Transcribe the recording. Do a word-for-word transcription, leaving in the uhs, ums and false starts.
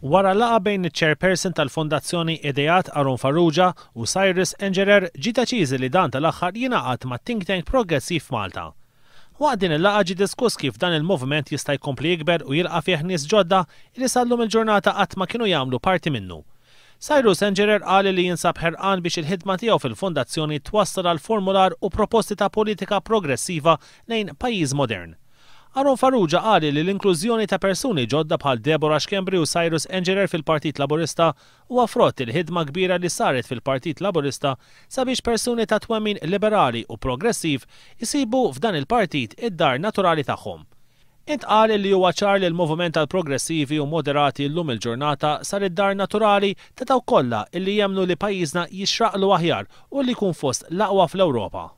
Wara laqgħa bejn iċ-chairperson tal-Fondazzjoni Ideat Aaron Farrugia u Cyrus Engerer, ġie deċiż li dan tal-aħħar jingħaqad ma' Think Tank Progressiv Malta. Waqt din il-laqgħa ġie diskuss kif dan il-moviment jista' jkompli jikber u jilqa' fih nies ġodda li sal-lum il-ġurnata qatt ma kienu jagħmlu parti minnu. Cyrus Engerer qal li jinsab ħerqan biex il-ħidma tiegħu fil-fondazzjoni twassal għal formular u proposti ta' politika progressiva lejn pajjiż modern. Aaron Farrugia qal li l-inklużjoni ta' persuni ġodda bħal Deborah Schembri u Cyrus Engerer fil-Partit Laburista huwa frott il-ħidma kbira li saret fil-Partit Laburista sabiex persuni ta' twemmin liberali u progressiv isibu f'dan il-partit id-dar naturali tagħhom. Intqal li huwa ċar li l-moviment tal-progressivi u moderati llum il-ġurnata sar id-dar naturali ta' dawk kollha illi jemmnu li pajjiżna jixraqlu aħjar u li jkun fost l-aqwa fl-Ewropa.